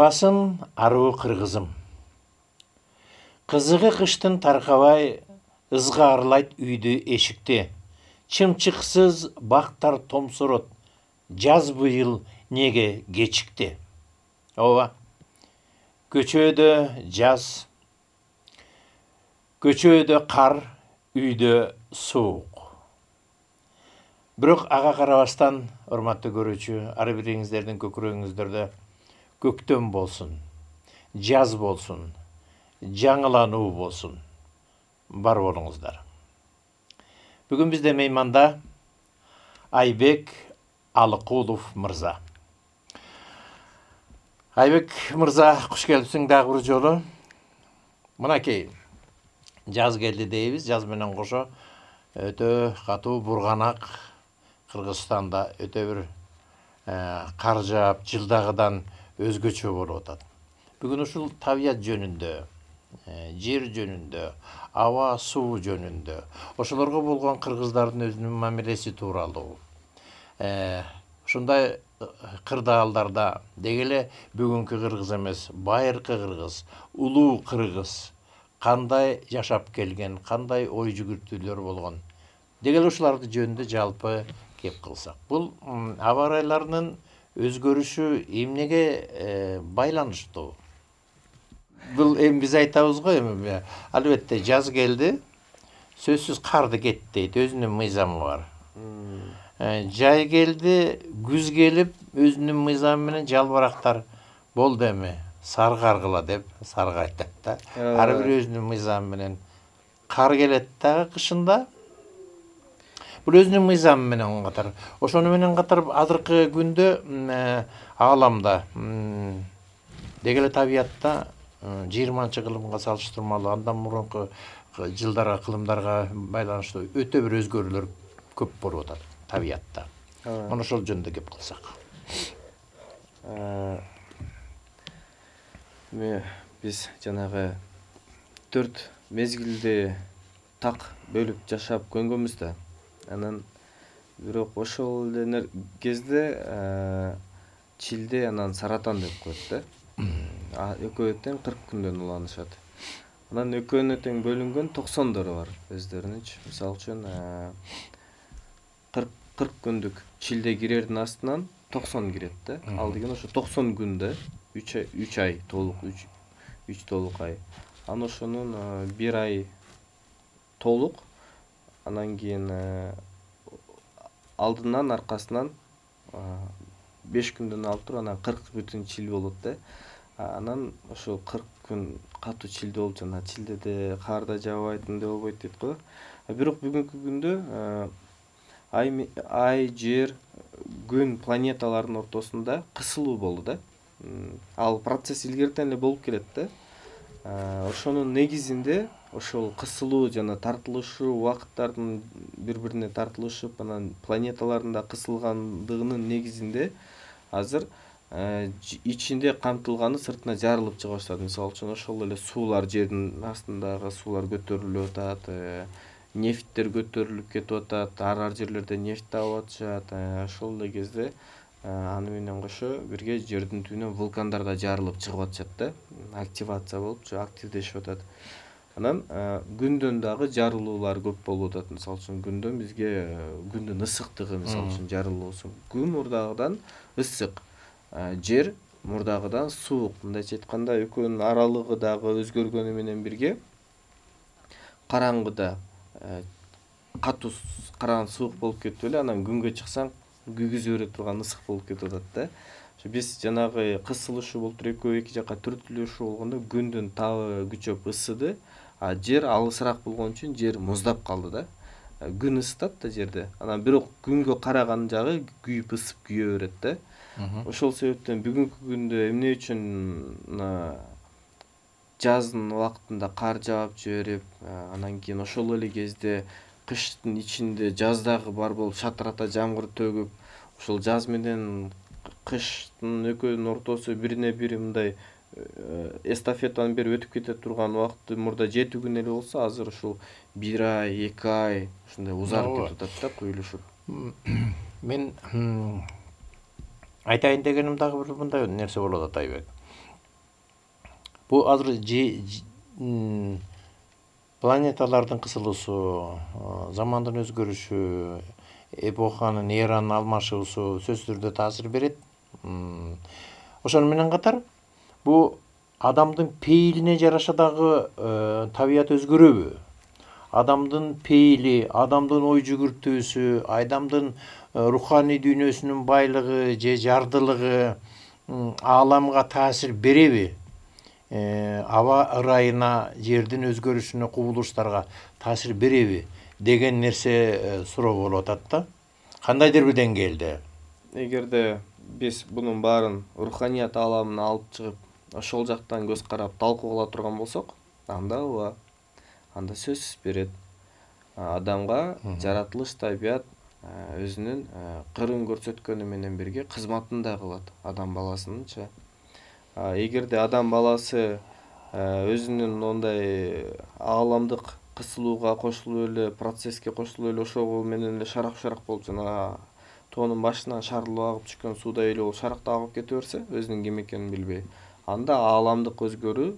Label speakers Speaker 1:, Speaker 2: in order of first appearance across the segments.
Speaker 1: Арбасын аруу кыргызым. Кызыгы кыштын таркабай, ызгаарлайт үйдү эшикти. Чымчыксыз бактар томсорот. Жаз быйыл неге кечикти? Ооба. Көчөдө жаз, көчөдө кар, үйдө суук. Бирок ага карабастан, урматтуу көрүүчү, ар бириңиздердин көкүрөгүңүздөрдө көктөм болсун, жаз болсун, жаңылануу болсун. Бар болуңуздар. Бүгүн бизде мейманда Айбек Алыкулов мырза. Айбек мырза, куш келипсиң дагы бир жолу. Мынакей, жаз келди дейбиз, жаз менен кошо өтө катуу бурганак Кыргызстанда өтө бир кар жаап, жылдагыдан өзгөчө болуп атат. Бүгүн ушул табият жөнүндө, жер жөнүндө, аба, суу жөнүндө, ошолорго болгон кыргыздардын өзүнүн мамилеси тууралуу, ушундай кырдаалдарда деги эле бүгүнкү кыргыз эмес, байыркы кыргыз, улуу кыргыз кандай жашап келген, кандай ой жүгүртүүлөр болгон, деги эле ушуларды жөнүндө жалпы кеп кылсак. Бул аба ырайларынын өзгөрүшү эмнеге байланыштуу? Бул эми биз айтабыз го, эми албетте жаз келди, сөзсүз карды кет дейт, өзүнүн мыйзамы бар. Жай келди, күз келип, өзүнүн мыйзамы менен жалбырактар болду эми, саргаргыла деп сарга айтат да. Ар бири өзүнүн мыйзамы менен. Кар келет дагы кышында. Бул өзүнүн мыйзамы менен катар. Ошону менен катар азыркы күндө ааламда деги эле табиятта 20-кылымга салыштырмалуу, андан мурунку жылдарга, кылымдарга байланыштуу өтө бир өзгөрүүлөр көп болуп атат табиятта. Мына ошол жөнүндө кеп кылсак.
Speaker 2: Биз жанагы 4 мезгилди так бөлүп жашап көнгөнбүз да. Анан бирок ошол эле кезде чилде анан саратан деп коет да. Экөө тең 40 күндөн уланышат. Анан экөөнө тең бөлүнгөн 90дору бар өздөрүнүнчү. Мисалы үчүн 40 күндүк чилде кирердин астынан 90 кирет да. Ал деген ошо 90 күндө 3 ай толук, 3 толук ай. Анан ошонун 1 ай толук, анан кийин алдынан аркасынан 5 күндөн алып туруп анан 40 бүтүн чил болот да. Анан ошол 40 күн катуу чилде болуп, жана чилдеде кар да жаабайт, эмне болбойт дейт го. Бирок бүгүнкү күндө ай, жер, күн, планеталардын ортосунда кысылуу болду да. Ал процесс илгертен эле болуп келет да. Ошонун негизинде ошол кысылуу жана тартылышуу, убакыттардын бири-бирине тартылышып, анан планеталардын да кысылгандыгынын негизинде азыр ичинде камтылганы сыртына жарылып чыга баштады. Мисалы үчүн ошол эле суулар, жердин астындагы суулар көтөрүлүп атат, нефттер көтөрүлүп кетип атат, ар жерлерде нефть табып атышат. Ошол эле кезде аны менен кошо бирге жердин түбүнөн вулкандар да жарылып чыгып атышат да. Активация болуп, активдешип атат. Анан күндөн дагы жарылуулар көп болуп атат. Мисалы үчүн күндөн бизге күндүн ысыктыгы, мисалы үчүн жарылуусу. Күн мурдагыдан ысык, жер мурдагыдан суук. Мындайча айтканда, экөөнүн аралыгы дагы өзгөргөнү менен бирге караңгыда катуу караң суук болуп кетип эле, анан күнгө чыксаң күйгүзө бере турган ысык болуп кетип атат да. Биз жанагы кысылышуу болуп экөө эки жакка түртүлүшүү болгондо күндүн табы күчөп ысыды, а жер алысыраак болгон үчүн жер муздап калды да. Күн ысытат да жерде. Анан бирок күнгө караган жагы күйүп ысып күйө берет да. Ошол себептен бүгүнкү күндө эмне үчүн жаздын убактында кар жаап жиберип, анан кийин ошол эле кезде кыштын ичинде жаздагы бар болуп шатырата жамгыр төгүп, ошол жаз менен кыштын экөөнүн ортосу бирине бири мындай эстафетаны берип өтүп кете турган убакыты мурда 7 күн эле болсо, азыр ушул 1 ай, 2 ай ушундай узарып кетип атат да, куюлушуп.
Speaker 1: Мен айтайын дегеним дагы бир мындай нерсе болуп атат, Айбек. Бул азыр планеталардын кысылуусу, замандын өзгөрүшү, эпоханын эранын алмашуусу сөзсүз түрдө таасир берет. Ошону менен катар бул адамдын пейилине жараша дагы табият өзгөрөбү? Адамдын пейили, адамдын ой жүгүртүүсү, адамдын руханий дүйнөсүнүн байлыгы же жардылыгы ааламга таасир береби? Аба ырайына, жердин өзгөрүшүнө, кубулуштарга таасир береби деген нерсе суроо болуп атат да. Кандайдыр бир деңгээлде.
Speaker 2: Эгерде биз бунун баарын руханият ааламына алып чыгып, ошол жактан көз карап талкуулала турган болсок, анда ооба, анда сөзсүз берет. Адамга жаратылыш табият өзүнүн кырын көрсөткөнү менен бирге кызматын да кылат, адам баласынынчы. Эгерде адам баласы өзүнүн ондай ааламдык кысылууга кошулуп эле, процесске кошулуп эле ошол менен эле шарак болуп, жана тоонун башынан шарылып агып түшкөн суудай эле болуп шарактап агып кете берсе, өзүнүн ким экенин билбей, анда ааламдык өзгөрүү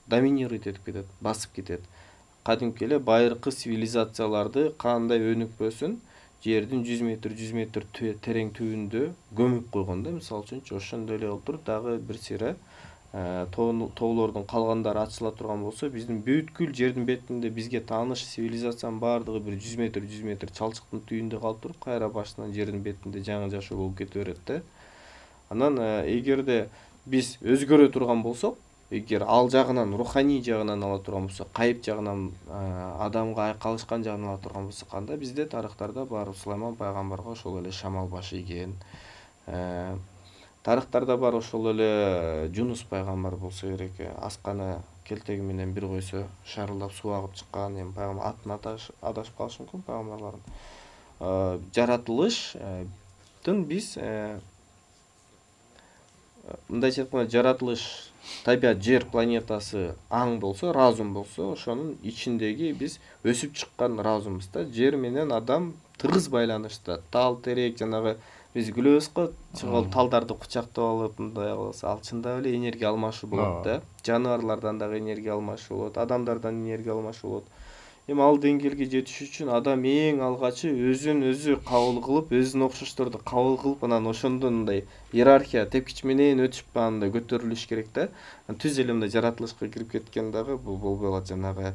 Speaker 2: доминируйт этип кетет, басып кетет. Кадимки эле байыркы цивилизацияларды кандай өнүкпөсүн жердин 100 метр терең түбүндө көмүп койгон да, мисалы үчүнчү. Ошондой эле кылып туруп дагы бир сыйра тоолордун калгандары ачыла турган болсо, биздин бүткүл жердин бетинде бизге тааныш цивилизациянын баардыгы бир 100 метр чалчыктын түбүндө калып туруп, кайра башынан жердин бетинде жаңы жашоо болуп кете берет да. Анан эгерде биз өзгөрө турган болсок, эгер ал жагынан, руханий жагынан ала турган болсок, кайып жагынан, адамга айкалышкан жагынан ала турган болсок, анда бизде тарыхтарда бар Сулайман пайгамбарга ошол эле шамал баш ийген. Тарыхтарда бар ошол эле Жунус пайгамбар болсо керек, асканы келтеги менен бир койсо шарылдап суу агып чыккан, эми пайгамбар атын адашып калышы мүмкүн пайгамбарлардын. Жаратылыштын биз мындайча айтканда, жаратылыш, табият, жер планетасы аң болсо, разум болсо, ошонун ичиндеги биз өсүп чыккан разумбуз да. Жер менен адам тыгыз байланышта. Тал терек, жанагы биз күлөбүз го, чыгып талдарды кучактап алып, мындай кылса, ал чындап эле энергия алмашуу болот да. Жаныбарлардан дагы энергия алмашуу болот, адамдардан энергия алмашуу болот. Эми ал деңгээлге жетиш үчүн адам эң алгачы өзүн өзү кабыл кылып, өзүнө окшошторду кабыл кылып, анан ошондон мындай иерархия тепкич менен өтүп андай көтөрүлүш керек да. Түз эле мындай жаратылышка кирип кеткен дагы бул болбой калат. Жанагы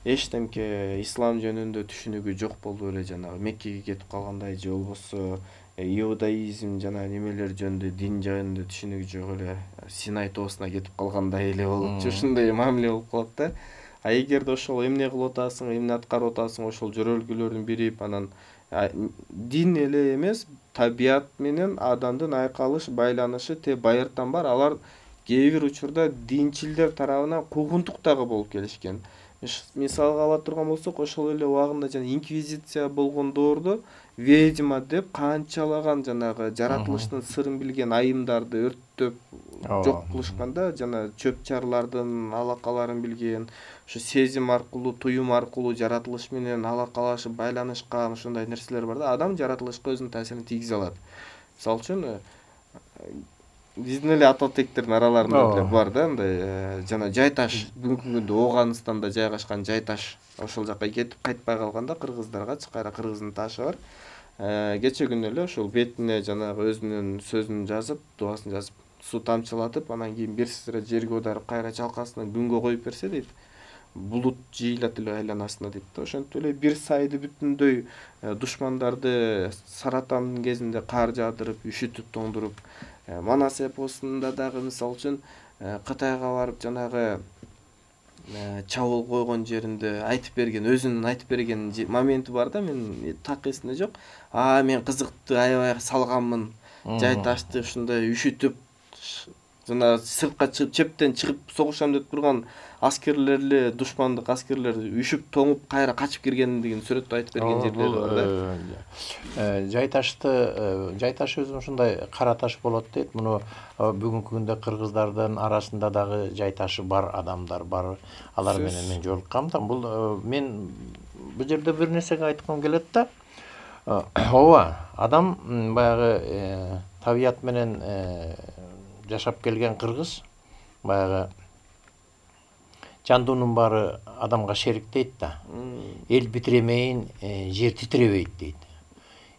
Speaker 2: эчтемке ислам жөнүндө түшүнүгү жок болуп эле жанагы Меккеге кетип калгандай, же болбосо иудаизм жана немелер жөнүндө, дин жөнүндө түшүнүгү жок эле Синай тоосуна кетип калгандай эле болупчу, ушундай мамиле болуп калат да. Эгерде ошол эмне кылып атасың, эмне аткарып атасың, ошол жөрөлгөлөрүн бирип, анан дин эле эмес, табият менен адамдын айкалыш байланышы байыртан бар. Алар кээ бир учурда динчилдер тарабынан куугунтук дагы болуп келишкен. Мисалга ала турган болсок, ошол эле убагында жана инквизиция болгон доордо ведьма деп канчалаган жанагы жаратылыштын сырын билген айымдарды өрттөп жок кылышканда, жана чөп-чарлардын алакаларын билген, ошо сезим аркылуу, туюм аркылуу жаратылыш менен алакалашып байланышкан ошондой нерселер бар да. Адам жаратылышка өзүнүн таасирин тийгизе алат. Мисалы үчүн биздин эле ата тектердин араларында деле бар да, мындай жана жай таш, бүгүнкү күндө Ооганстанда жайгашкан жай таш. Ошол жака кетип кайтпай калганда кыргыздаргачы кайра кыргыздын ташы бар. Кече күнү эле ошол бетине жанагы өзүнүн сөзүн жазып, дубасын жазып, суу тамчылатып, анан кийин бир сыра жерге аударып, кайра чалкасынан күнгө коюп берсе дейт, булут жыйылат эле айланасына дейт да. Ошентип эле бир сайды бүтүндөй душмандарды саратандын кезинде кар жаадырып, үшүтүп тоңдуруп, Манас эпосунда дагы мисалы үчүн Кытайга барып жанагы чабуул койгон жеринде айтып берген, өзүнүн айтып берген моменти бар да, мен так эсимде жок. Мен кызыкты аябай салганмын, жай ташты ушундай үшүтүп, жана сыртка чыгып, чептен чыгып согушам деп турган аскерлер эле, душмандык аскерлер үшүп тоңуп кайра качып киргендигин сүрөттөп айтып берген жерлери бар да.
Speaker 1: Жай таш өзү ушундай кара таш болот дейт. Муну бүгүнкү күндө кыргыздардын арасында дагы жай ташы бар адамдар бар. Алар менен мен жолуккам да. Мен бул жерде бир нерсеге айткым келет да. Ооба, адам баягы табият менен жашап келген кыргыз баягы жандуунун баары адамга шерик дейт да. Эл битиремейин жер титиребейт дейт.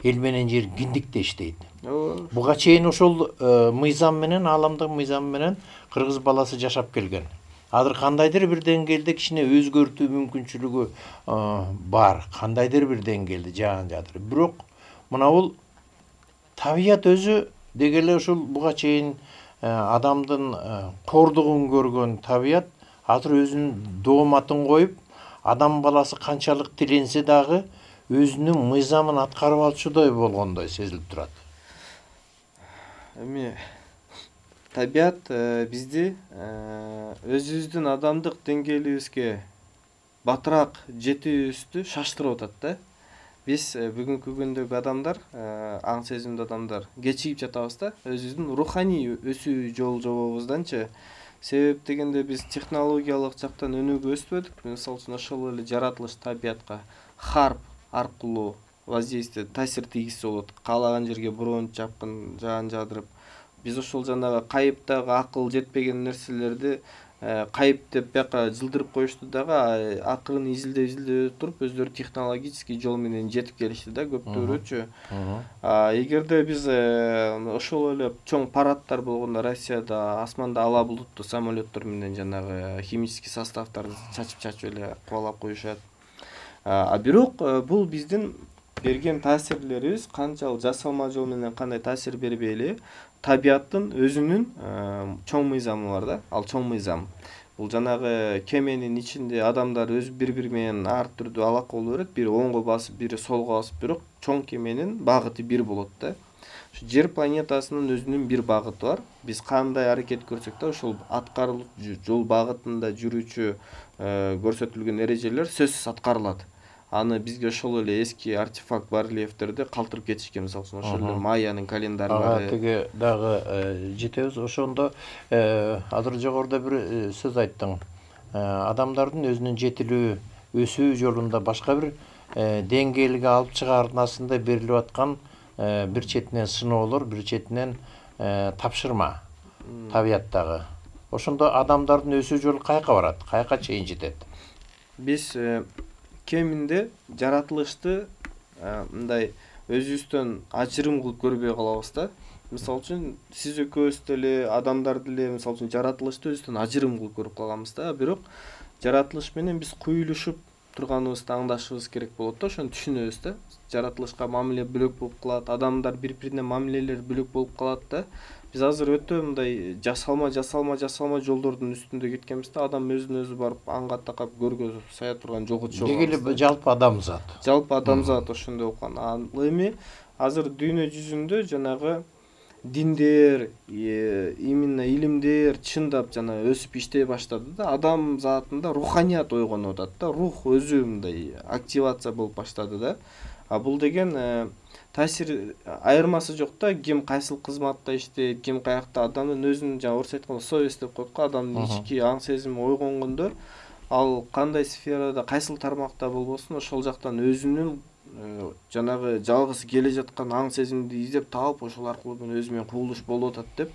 Speaker 1: Эл менен жер киндиктеш дейт. Буга чейин ошол мыйзам менен, ааламдык мыйзам менен кыргыз баласы жашап келген. Азыр кандайдыр бир деңгээлде кичине өзгөртүү мүмкүнчүлүгү бар, кандайдыр бир деңгээлде жаан жатыр. Бирок мына бул табият өзү деги эле ушул буга чейин адамдын кордугун көргөн табият азыр өзүнүн дооматын коюп, адам баласы канчалык тиленсе дагы өзүнүн мыйзамын аткарып алчудай болгондой сезилип турат.
Speaker 2: Эми табият бизди өзүбүздүн адамдык деңгээлибизге батыраак жетүүбүздү шаштырып атат да. Биз бүгүнкү күндөгү адамдар, аң сезимдүү адамдар кечигип жатабыз да, өзүбүздүн руханий өсүү жолубузданчы. Себеп дегенде биз технологиялык жактан өнүгүп өспөдүк. Мисалы үчүн ошол эле жаратылыш табиятка харп аркылуу воздействие, таасир тийгизсе болот. Каалаган жерге броончу чапкын, жаан жаадырып, биз ошол жанагы кайыптагы акыл жетпеген нерселерди кайып деп бияка жылдырып коюшту дагы, акырын изилдеп туруп өздөрү технологический жол менен жетип келишти да көптөрүчү. Эгерде биз ошол эле чоң парадтар болгондо Россияда асманда ала булуттуу самолеттор менен жанагы химический составдарды чачып эле кубалап коюшат. Бирок бул биздин берген таасирлерибиз канчалык жасалма жол менен кандай таасир бербей эле табияттын өзүнүн чоң мыйзамы бар да. Ал чоң мыйзам. Бул жанагы кеменин ичинде адамдар өз бири менен ар түрдүү алака боло берет. Бири оңго басып, бири солго басып, бирок чоң кеменин багыты бир болот да. Жер планетасынын өзүнүн бир багыты бар. Биз кандай аракет көрсөк да ошол аткарылуу жол багытында жүрүүчү көрсөтүлгөн эрежелер сөзсүз аткарылат. Аны бизге ошол эле эски артефакт барельефтерди калтырып кетишкен, мисалы үчүн ошол эле Майянын календарьлары.
Speaker 1: Тиги дагы жетебиз. Ошондо азыр жогоруда бир сөз айттың. Адамдардын өзүнүн жетилүү, өсүү жолунда башка бир деңгээлге алып чыгарнасында берилип аткан бир четинен сыноолор, бир четинен тапшырма табияттагы. Ошондо адамдардын өсүү жолу каяка барат, каяка чейин жетет?
Speaker 2: Биз кеминде жаратылышты мындай өзүбүздөн ажырым кылып көрбөй калабыз да. Мисалы үчүн сиз экөөбүз деле, адамдар деле мисалы үчүн жаратылышты өзүбүздөн ажырым кылып көрүп калганбыз да. Бирок жаратылыш менен биз куюлушуп турганыбызды аңдашыбыз керек болот да, ошону түшүнөбүз да. Жаратылышка мамиле бөлөк болуп калат, адамдар бири-бирине мамилелери бөлөк болуп калат да. Биз азыр өтө мындай жасалма жолдордун үстүндө кеткенбиз да. Адам өзүн өзү барып аңга такап көргө сая турган жолго түшүп
Speaker 1: алганбыз. Деги эле жалпы адамзат.
Speaker 2: Жалпы адамзат ошондой болгон. Ал эми азыр дүйнө жүзүндө жанагы диндер, именно илимдер чындап жана өсүп иштей баштады да. Адам затында руханият ойгонуп атат да. Рух өзү мындай активация болуп баштады да. Бул деген таасир айырмасы жок да. Ким кайсыл кызматта иштейт, ким каякта, адамдын өзүнүн жана орусча айтканда совесть деп коет го, адамдын ички аң сезими ойгонгондо ал кандай сферада, кайсыл тармакта болбосун ошол жактан өзүнүн жанагы жалгыз келе жаткан аң сезимди издеп таап, ошол аркылуу мен өзү менен кубулуш болуп атат деп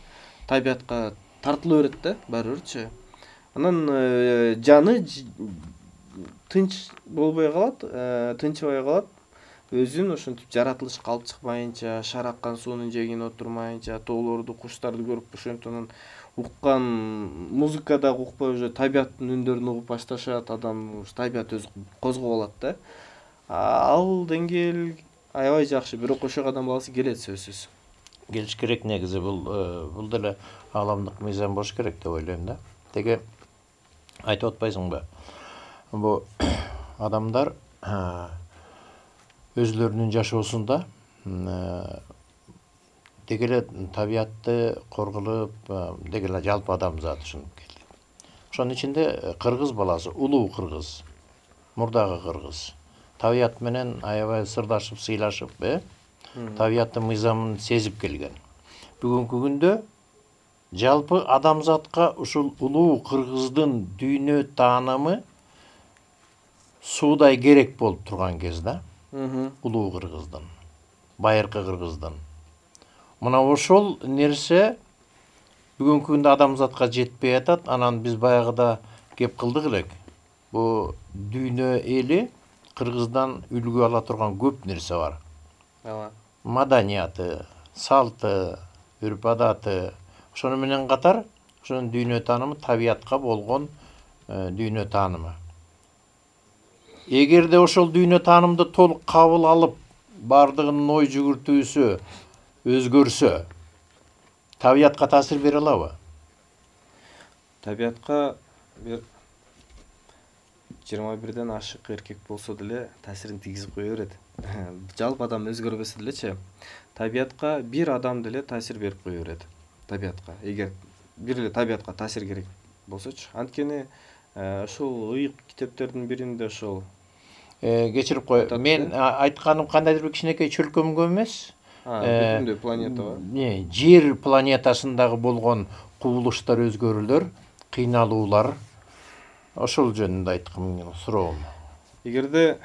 Speaker 2: табиятка тартыла берет да баары бирчи. Анан жаны тынч болбой калат, тынчыбай калат. Өзүн ошентип жаратылышка алып чыкмайынча, шар аккан суунун жээгине отурмайынча, тоолорду, куштарды көрүп ошентип анан уккан музыка дагы укпай уже табияттын үндөрүн угуп башташат, адам табият өзү козгоп алат да. Ал деңгээл аябай жакшы, бирок ошого адам баласы келет сөзсүз.
Speaker 1: Келиш керек негизи, бул деле ааламдык мыйзам болуш керек деп ойлойм да. Теге айтып атпайсыңбы? Бул адамдар өзлөрүнүн жашоосунда деги эле табиятты корголоп, деги эле жалпы адамзат ушинтип келди. Ошонун ичинде кыргыз баласы, улуу кыргыз, мурдагы кыргыз табият менен аябай сырдашып, сыйлашып, табияттын мыйзамын сезип келген. Бүгүнкү күндө жалпы адамзатка ушул улуу кыргыздын дүйнө таанымы суудай керек болуп турган кез да. Улуу кыргыздын, байыркы кыргыздын. Мына ошол нерсе бүгүнкү күндө адамзатка жетпей атат. Анан биз баягыда кеп кылдык элек. Бул дүйнө эли Кыргыздан үлгү ала турган көп нерсе бар.
Speaker 2: ооба,
Speaker 1: Маданияты, салты, үрп адаты. Ошону менен катар ошонун дүйнө таанымы табиятка болгон дүйнө таанымы. Эгерде ошол дүйнө таанымды толук кабыл алып, бардыгынын ой жүгүртүүсү өзгөрсө, табиятка таасир бере алабы?
Speaker 2: табиятка бир 21ден ашык эркек болсо деле таасирин тийгизип кое берет. Жалпы адам өзгөрбөсө делечи, табиятка бир адам деле таасир берип кое берет. Табиятка, эгер бир эле табиятка таасир керек болсочу. Анткени ошол ыйык китептердин биринде ошол
Speaker 1: Кечирип кой. Мен айтканым кандайдыр бир кичинекей чөлкөмгө эмес.
Speaker 2: бүтүндөй планетага.
Speaker 1: Жер планетасындагы болгон кубулуштар, өзгөрүүлөр, кыйналуулар, ошол жөнүндө айткым суроом.
Speaker 2: Эгерде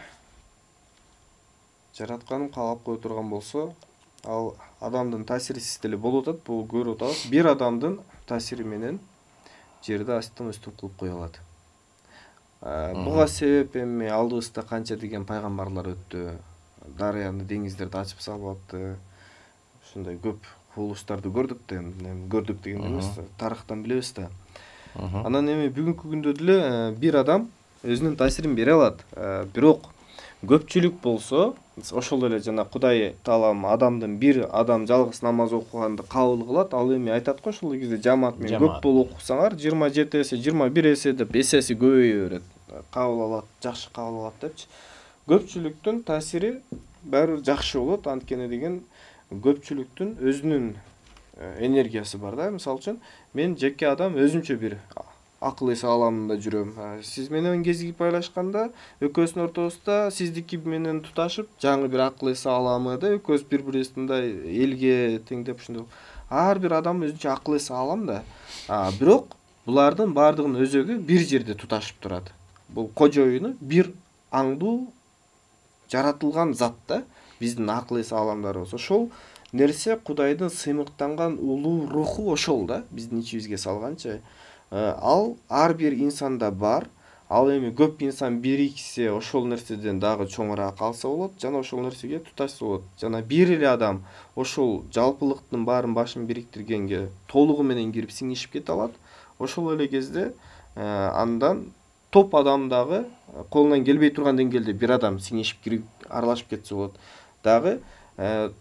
Speaker 2: жаратканым каалап кое турган болсо, ал адамдын таасирисиз деле болуп атат. Бул көрүп атабыз. Бир адамдын таасири менен жерди астын үстүн кылып кое алат. Буга себеп эми алдыбызда канча деген пайгамбарлар өттү. Дарыяны, деңиздерди ачып салып атты. Ушундай көп кубулуштарды көрдүк да, эми көрдүк дегенде эмес, тарыхтан билебиз да. Анан эми бүгүнкү күндө деле бир адам өзүнүн таасирин бере алат. Бирок көпчүлүк болсо, ошол эле жана Кудай Таалам адамдын бир адам жалгыз намаз окуганды кабыл кылат. Ал эми айтат го, ошол кезде жамаат менен көп болуп окусаңар 27 эсе, 21 эсе деп эсеси көбөйө берет. Кабыл алат, жакшы кабыл алат депчи. Көпчүлүктүн таасири баары бир жакшы болот. Анткени деген көпчүлүктүн өзүнүн энергиясы бар да. Мисалы үчүн мен жеке адам өзүмчө бир акыл эс ааламында жүрөм. Сиз менен кезигип байлашканда экөөбүздүн ортобузда сиздики менен туташып жаңы бир акыл эс ааламы да, экөөбүз бири-бирибизди мындай элге теңдеп ушундай. Ар бир адам өзүнчө акыл эс аалам да. Бирок булардын баардыгынын өзөгү бир жерде туташып турат. Бул кожоюну бир аңдуу жаратылган зат да, биздин акыл эс ааламдарыбыз. Ошол нерсе Кудайдын сыймыктанган улуу руху ошол да, биздин ичибизге салганчы. Ал ар бир инсанда бар. Ал эми көп инсан бириксе ошол нерседен дагы чоңураак алса болот, жана ошол нерсеге туташса болот. Жана бир эле адам ошол жалпылыктын баарын башын бириктиргенге толугу менен кирип сиңишип кете алат. Ошол эле кезде андан топ адам дагы колунан келбей турган деңгээлде бир адам сиңишип кирип аралашып кетсе болот. Дагы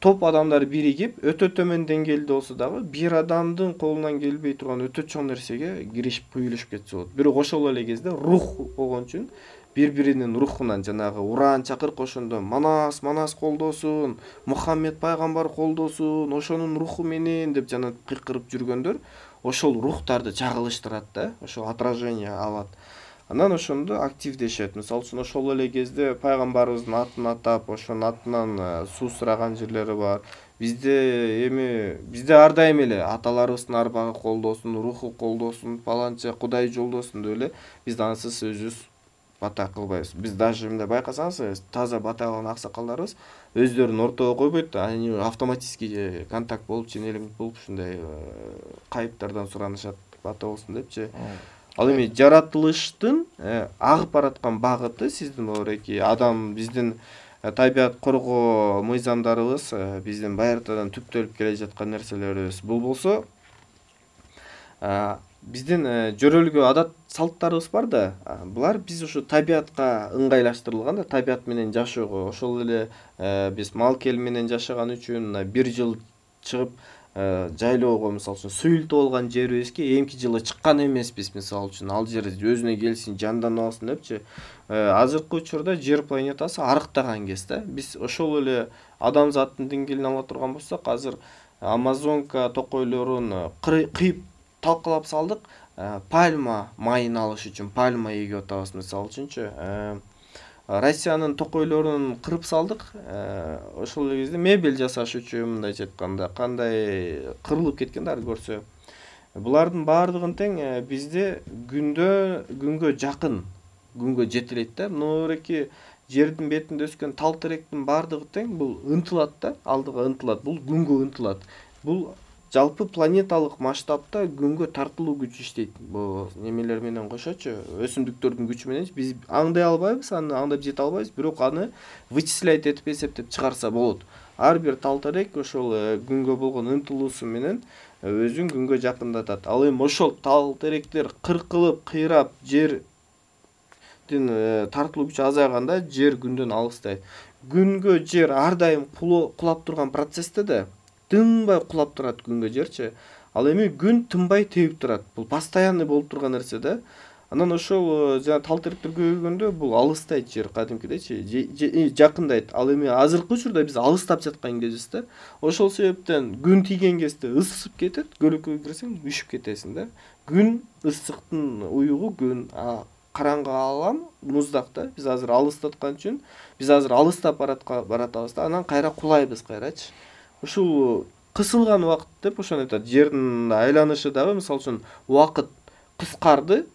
Speaker 2: топ адамдар биригип өтө төмөн деңгээлде болсо дагы бир адамдын колунан келбей турган өтө чоң нерсеге киришип куюлушуп кетсе болот. Бирок ошол эле кезде рух болгон үчүн бири-биринин рухунан жанагы уран чакырык ошондо Манас колдосун, Мухаммед пайгамбар колдосун, ошонун руху менен деп жана кыйкырып жүргөндөр ошол рухтарды чагылыштырат да, ошол отражение алат. Анан ошондо активдешет. Мисалы үчүн ошол эле кезде пайгамбарыбыздын атын атап, ошонун атынан суу сураган жерлери бар. Бизде ар дайым эле аталарыбыздын арбагы колдосун, руху колдосун, паланча Кудай жолдосун деп эле биз ансыз өзүбүз бата кылбайбыз. Биз даже мындай байкасаңыз, таза бата кылган аксакалдарыбыз өздөрүн ортого койбойт, они автоматически контакт болуп, ченелик болуп ушундай кайыптардан суранышат, бата болсун депчи. Ал эми жаратылыштын агып бараткан багыты сиздин ореки адам, биздин табият коргоо мыйзамдарыбыз, биздин байыртадан түптөлүп келе жаткан нерселерибиз. Бул болсо биздин жөрөлгө адат салттарыбыз бар да. Булар биз ушу табиятка ыңгайлаштырылган да, табият менен жашоого. Ошол эле биз мал кел менен жашаган үчүн бир жыл чыгып жайлоого, мисалы үчүн суюлтуп болгон жерибизге эмки жылы чыккан эмеспиз, мисалы үчүн ал жер өзүнө келсин, жандана алсын депчи. Азыркы учурда жер планетасы арыктаган кез да. Биз ошол эле адамзаттын деңгээлин ала турган болсок, азыр Амазонка токойлорун кыйып талкалап салдык, пальма майын алыш үчүн пальма эгип атабыз, мисалы үчүнчү. Россиянын токойлорун кырып салдык. Ошол эле кезде мебель жасаш үчүн, мындайча айтканда, кандай кырылып кеткен да көрсө. Булардын баардыгын тең бизде күнгө жакын, күнгө жетелейт да. Ноореки жердин бетинде өскөн тал теректин баардыгы тең бул ынтылат да, алдыга ынтылат. Бул күнгө ынтылат. Бул жалпы планеталык масштабта күнгө тартылуу күч иштейт. Бул немелер менен кошочу, өсүмдүктөрдүн күчү менен биз аңдай албайбыз, аны аңдап жете албайбыз, бирок аны вычислять этип эсептеп чыгарса болот. Ар бир тал терек ошол күнгө болгон ынтылуусу менен өзүн күнгө жакындатат. Ал эми ошол тал теректер кыркылып, кыйрап жердин тартылуу күчү азайганда жер күндөн алыстайт. Күнгө жер ар дайым кулап турган процессте да тынбай кулап турат күнгө жерчи. Ал эми күн тынбай тебип турат. Бул постоянный болуп турган нерсе да. Анан ошол жана тал теректер көбөйгөндө бул алыстайт жер кадимкидейчи, жакындайт. Ал эми азыркы учурда биз алыстап жаткан кезибизде, ошол себептен күн тийген кезде ысып кетет, көлөкөгө кирсең үшүп кетесиң да. Күн ысыктын уюгу күн, караңгы алам муздак да. Биз азыр алыстаткан үчүн биз азыр алыстап баратабыз да, анан кайра кулайбыз кайрачы. Ушул кысылган убакыт деп ошону айтат. Жердин айланышы дагы мисалы үчүн убакыт кыскарды,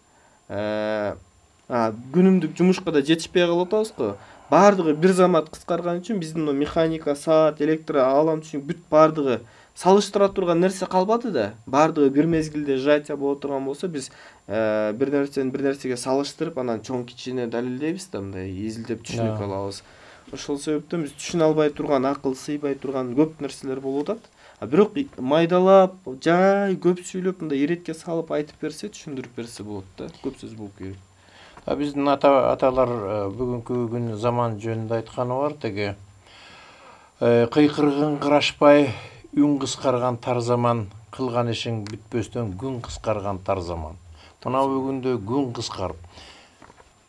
Speaker 2: күнүмдүк жумушка да жетишпей калып атабыз го. Баардыгы бир замат кыскарган үчүн биздин механика, саат, электр алам үчүн бүт баардыгы салыштыра турган нерсе калбады да. Баардыгы бир мезгилде сжатие боло турган болсо, биз бир нерсени бир нерсеге салыштырып, анан чоң кичине далилдейбиз да, мындай изилдеп түшүнүк алабыз. Ошол себептен биз түшүнө албай турган, акыл сыйбай турган көп нерселер болуп атат. Бирок майдалап, жай көп сүйлөп, мындай иретке салып айтып берсе, түшүндүрүп берсе болот да. Көп сөз болуп кетет.
Speaker 1: Биздин аталар бүгүнкү күн заман жөнүндө айтканы бар, теги кыйкыргын кырашпай, үн кыскарган тар заман, кылган ишиң бүтпөстөн күн кыскарган тар заман. Мына бүгүндө күн кыскарып,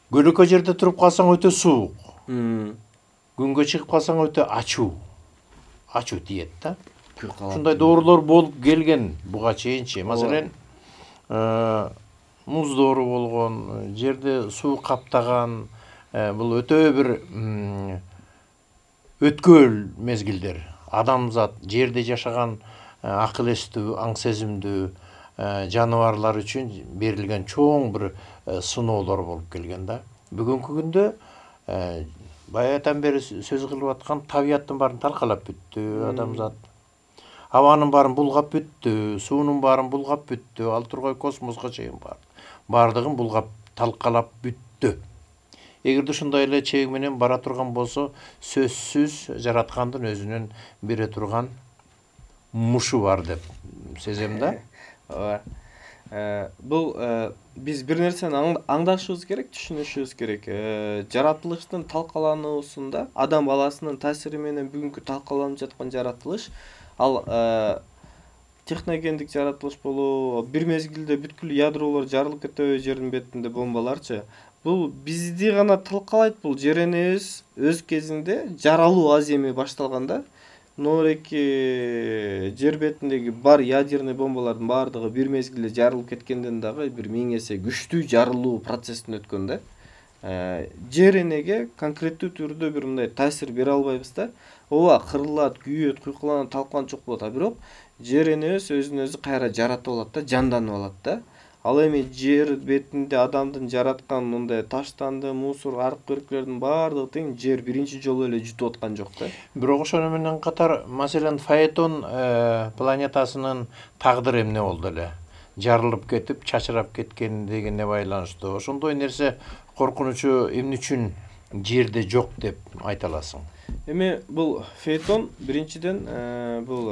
Speaker 1: көлөкө жерде туруп калсаң өтө суук, күнгө чыгып калсаң өтө ачуу тиет да. Ушундай доорулор болуп келген буга чейинчи. Маселен, муз доору болгон, жерде суу каптаган, бул өтө бир өткөл мезгилдер. Адамзат, жерде жашаган акыл эстүү, аң сезимдүү жаныбарлар үчүн берилген чоң бир сыноолор болуп келген да. Бүгүнкү күндө баягыдан бери сөз кылып аткан табияттын баарын талкалап бүттү адамзат. Абанын баарын булгап бүттү, суунун баарын булгап бүттү, ал тургай космоско чейин баардыгын булгап талкалап бүттү. Эгерде ушундай эле чеги менен бара турган болсо, сөзсүз жараткандын өзүнүн бере турган мушу бар деп сезем да.
Speaker 2: Бул биз бир нерсени аңдашыбыз керек, түшүнүшүбүз керек. Жаратылыштын талкалануусунда адам баласынын таасири менен бүгүнкү талкаланып жаткан жаратылыш, ал техногендик жаратылыш болобу, бир мезгилде бүткүл ядролор жарылып кетеби жердин бетинде бомбаларчы. Бул бизди гана талкалайт, бул жер энебиз өз кезинде жаралуу аземи башталганда, ноореки жер бетиндеги бар ядерный бомбалардын баардыгы бир мезгилде жарылып кеткенден дагы бир 1000 эсе күчтүү жарылуу процесстен өткөн да. Жер энеге конкреттүү түрдө бир мындай таасир бере албайбыз да. Ооба, кырылат, күйөт, куйкуланат, талканчок болот, бирок жер энебиз өзүн өзү кайра жаратып алат да, жанданып алат да. Ал эми жер бетинде адамдын жараткан мындай таштанды, мусор, аркы-үркүлөрдүн баардыгы тең жер биринчи жолу эле жутуп аткан жок да.
Speaker 1: Бирок ошону менен катар, маселен, Фаэтон планетасынын тагдыры эмне болду эле? Жарылып кетип, чачырап кеткен дегенге байланыштуу. Ошондой нерсе коркунучу эмне үчүн жерде жок деп айта аласың?
Speaker 2: Эми бул Фаэтон биринчиден бул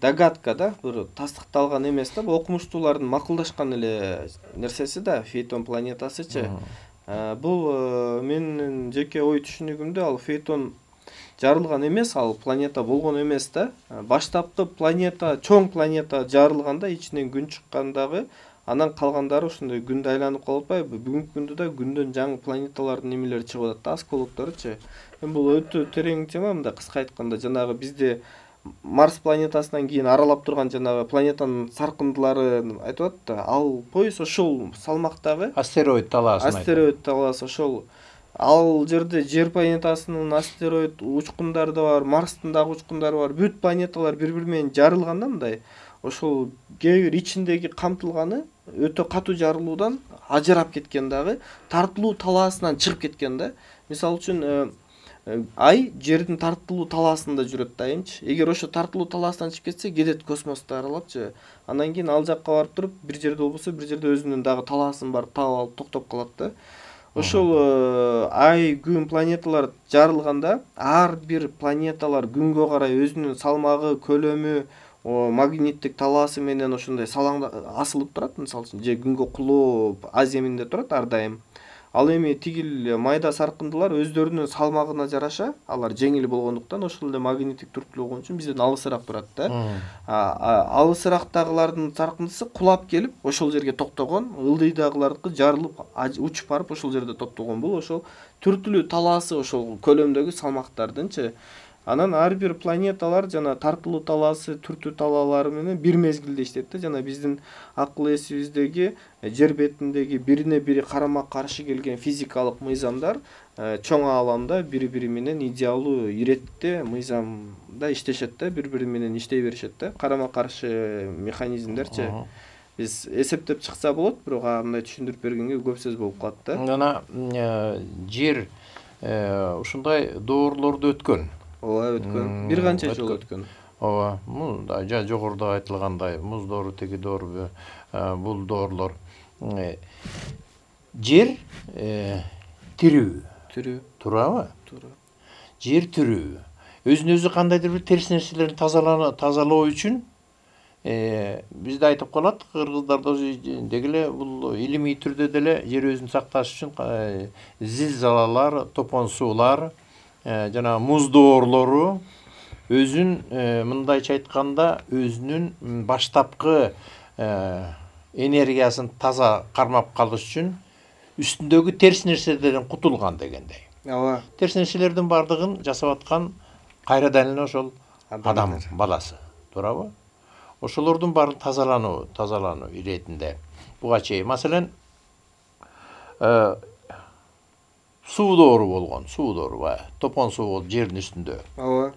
Speaker 2: догадка да, бир тастыкталган эмес да, бул окумуштуулардын макулдашкан эле нерсеси да, Фаэтон планетасычы. Бул менин жеке ой түшүнүгүмдө ал Фаэтон жарылган эмес, ал планета болгон эмес да. Баштапкы планета, чоң планета жарылганда, ичинен күн чыккандагы, анан калгандары ошондой күндө айланып калып атпайбы? Бүгүнкү күндө да күндөн жаңы планеталардын немелери чыгып атат да, осколокторучу. Бул өтө терең тема, мындай кыска айтканда, жанагы бизде Марс планетасынан кийин аралап турган жанагы планетанын саркындыларын айтып атат да, ал пояс ошол салмактагы
Speaker 1: астероид
Speaker 2: талаасы ошол. Ал жерде жер планетасынын астероид учкундары да бар, Марстын дагы учкундары бар. Бүт планеталар бири-бири менен жарылганда мындай, ошол кээ бир ичиндеги камтылганы өтө катуу жарылуудан ажырап кеткен дагы, тартылуу талаасынан чыгып кеткен да. Мисалы үчүн ай жердин тартылуу талаасында жүрөт дайымчы. Эгер ошо тартылуу талаасынан чыгып кетсе, кетет космосту аралапчы. Андан кийин ал жакка барып туруп, бир жерде болбосо, бир жерде өзүнүн дагы талаасын барып таап алып токтоп калат да. Ошол ай, күн, планеталар жарылганда ар бир планеталар күнгө карай өзүнүн салмагы, көлөмү, магниттик талаасы менен ошондой асылып турат, мисалы үчүн, же күнгө кулоп аземинде турат ар дайым. Ал эми тигил майда саркындылар өздөрүнүн салмагына жараша, алар жеңил болгондуктан ошол эле магниттик түрткүлөө болгон үчүн бизден алысыраак турат да. Алысырактагылардын саркындысы кулап келип ошол жерге токтогон, ылдыйдагылардыкы жарылып учуп барып ошол жерде токтогон. Бул ошол түртүлүү талаасы ошол көлөмдөгү салмактардынчы. Анан ар бир планеталар жана тартылуу талаасы, түртүү талаалары менен бир мезгилде иштейт да. Жана биздин акыл эсибиздеги жер бетиндеги бирине бири карама каршы келген физикалык мыйзамдар чоң ааламда бири-бири менен идеалдуу иретте мыйзамда иштешет да, бири-бири менен иштей беришет да. Карама каршы механизмдерчи. Биз эсептеп чыкса болот, бирок мындай түшүндүрүп бергенге көп сөз болуп калат да.
Speaker 1: Жана жер ушундай доорлорду өткөн.
Speaker 2: Ооба, өткөн. Бир канча жолу өткөн.
Speaker 1: Ооба, жогоруда айтылгандай, муз доору, теги доору, бул доорлор. Жер тирүү. Туурабы?
Speaker 2: Туура.
Speaker 1: Жер тирүү. Өзүн өзү кандайдыр бир терс нерселерди тазалоо үчүн бизде айтып калат, кыргыздарда деги эле бул илимий түрдө деле жер өзүн сакташ үчүн зилзалалар, топон суулар, жана муз доорлору өзүн мындайча айтканда өзүнүн баштапкы энергиясын таза кармап калыш үчүн үстүндөгү терс нерселерден кутулган дегендей.
Speaker 2: Ооба.
Speaker 1: Терс нерселердин бардыгын жасап аткан кайрадан эле ошол адам баласы, туурабы? Ошолордун баарын тазалануу иретинде буга чейин. Маселен, суу доору болгон, топон суу болуп жердин үстүндө.
Speaker 2: Ооба.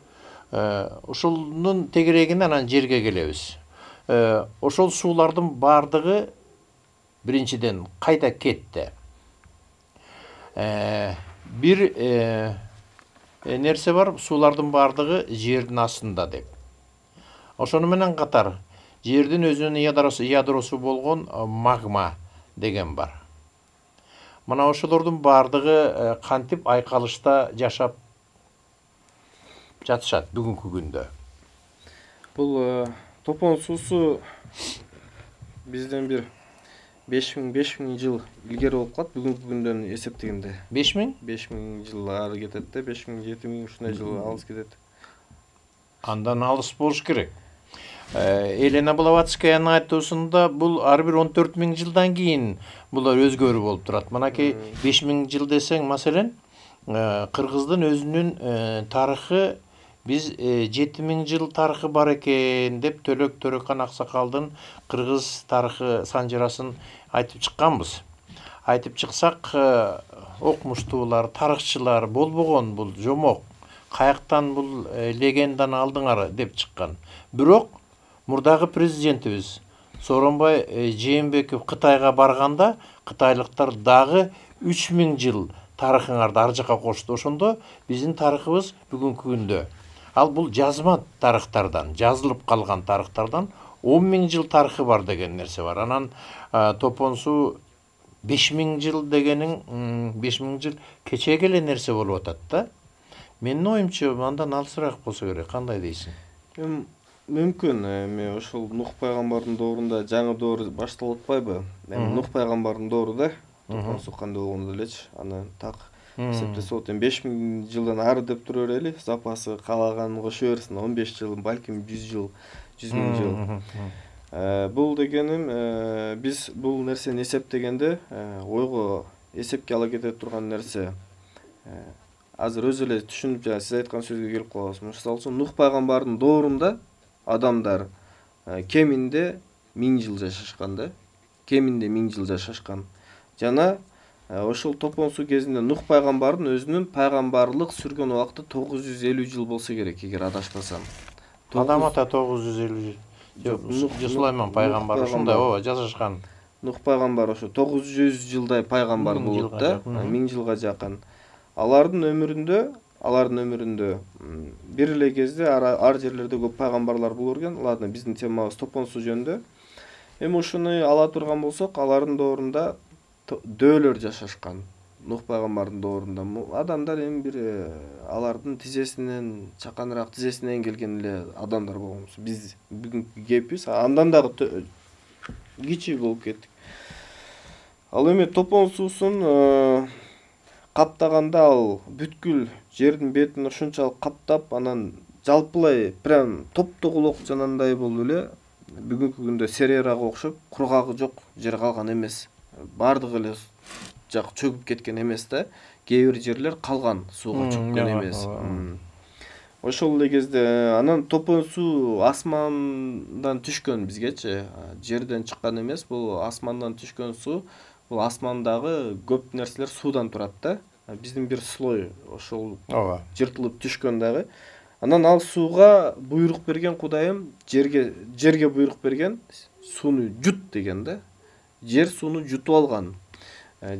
Speaker 1: Ошонун тегерегинен анан жерге келебиз. Ошол суулардын бардыгы биринчиден кайда кетти? Бир нерсе бар, суулардын бардыгы жердин астында деп. Ошону менен катар жердин өзүнүн ядросу болгон магма деген бар. Мына ошолордун бардыгы кантип айкалышта жашап жатышат бүгүнкү күндө?
Speaker 2: Бул топон суусу бизден бир 5000 жыл илгери болуп калат бүгүнкү күндөн эсептегенде.
Speaker 1: 5000?
Speaker 2: 5000 жыл ары кетет да, 5000-7000 ушундай жыл алыс кетет.
Speaker 1: Андан алыс болуш керек. Елена Блаватскаянын айтуусунда бул ар бир 14 000 жылдан кийин булар өзгөрүү болуп турат. Манакей 5000 жыл десең, маселен, кыргыздын өзүнүн тарыхы биз 7000 жыл тарыхы бар экен деп Төлөк Төрөкан Аксакалдын кыргыз тарыхы санжырасын айтып чыкканбыз. Айтып чыксак, окумуштуулар, тарыхчылар болбогон бул жомок. Каяктан бул легенданы алдыңар деп чыккан. Бирок мурдагы президентибиз Сооронбай Жээнбеков Кытайга барганда кытайлыктар дагы 3000 жыл тарыхыңарды ар жака кошту. Ошондо биздин тарыхыбыз бүгүнкү күндө. Ал бул жазма тарыхтардан, жазылып калган тарыхтардан 10 000 жыл тарыхы бар деген нерсе бар. Анан топон суу 5000 жыл дегениң 5000 жыл кечеге эле нерсе болуп атат да. Менин оюмча андан алысыраак болсо керек. Кандай дейсиң?
Speaker 2: Мүмкүн, эми ошол Нух пайгамбардын доорунда жаңы доор башталып атпайбы? Эми Нух пайгамбардын доору да, топон суу кандай болгондо элечи, аны так эсептесе болот. Эми 5000 жылдан ары деп тура берели, запасы каалаганын кошо берсин, 15 жыл, балким 100 жыл, 100 000 жыл. Бул дегеним, биз бул нерсени эсептегенде ойго эсепке ала кете турган нерсе. Азыр өзү эле түшүнүп, жана сиз айткан сөзгө келип калабыз. Мисалы үчүн Нух пайгамбардын доорунда адамдар кеминде 1000 жыл жашашкан да. Кеминде 1000 жыл жашашкан. Жана ошол топон суу кезинде Нух пайгамбардын өзүнүн пайгамбарлык сүргөн убакыты 950 жыл болсо керек, эгер адашпасам.
Speaker 1: Адам ата 950 жыл. Сулайман пайгамбар ушундай жашашкан.
Speaker 2: Нух пайгамбар ошо 900 жылдай пайгамбар болот да, 1000 жылга жакын. Алардын өмүрүндө алардын өмүрүндө бир эле кезде ар жерлерде көп пайгамбарлар болор экен. Ладно, биздин темабыз топон суу жөнүндө. Эми ушуну ала турган болсок, алардын доорунда дөөлөр жашашкан. Нух пайгамбардын доорунда адамдар эми бир алардын тизесинен, чаканыраак тизесинен келген эле адамдар болгонбуз. Биз бүгүнкү кепибиз андан дагы кичүү болуп кеттик. Ал эми топон суусун каптаганда ал бүткүл жердин бетин ушунчалык каптап, анан жалпылай прям топтогулок жанагындай болуп эле бүгүнкү күндө Серерага окшоп кургагы жок жер калган эмес. Бардыгы эле жак чөгүп кеткен эмес да. Кээ бир жерлер калган, сууга чөккөн эмес. Ошол эле кезде анан топон суу асмандан түшкөн бизгечи, жерден чыккан эмес. Бул асмандан түшкөн суу. Бул асмандагы көп нерселер суудан турат да. Биздин бир слой ошол жыртылып түшкөн дагы. Анан ал сууга буйрук берген Кудайым, жерге буйрук берген, сууну жут деген да. Жер сууну жутуп алган.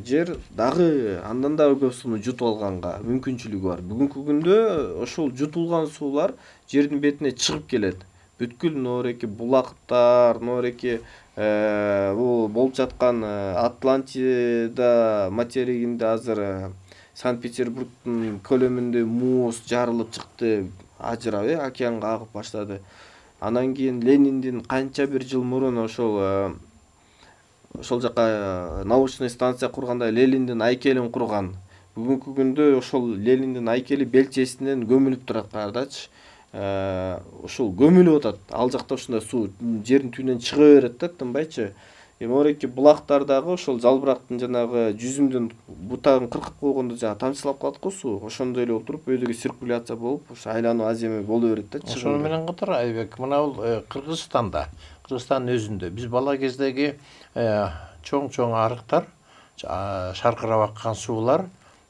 Speaker 2: Жер дагы андан дагы көп сууну жутуп алганга мүмкүнчүлүгү бар. Бүгүнкү күндө ошол жутулган суулар жердин бетине чыгып келет. Бүткүл ноореки булактар, ноореки бул болуп жаткан Атлантида материгинде азыр Санкт-Петербургдун көлөмүндө муз жарылып чыкты, ажырап океанга агып баштады. Анан кийин Лениндин канча бир жыл мурун ошол жака научный станция курганда Лениндин айкелин курган. Бүгүнкү күндө ошол Лениндин айкели белчесинен көмүлүп турат каардачы. Ошол көмүлүп атат. Ал жакта ушундай суу жердин түбүнөн чыга берет да, тынбайчы. Эми булактар дагы ошол жалбырактын жанагы жүзүмдүн бутагын кыркып койгондо жана тамчылап калат го суу. Ошондой эле болуп туруп өйдөгү циркуляция болуп, ошо айлануу аземе боло берет да.
Speaker 1: Ошону менен катар Айбек, мына бул Кыргызстандын өзүндө биз бала кездеги чоң арыктар, шаркырап аккан суулар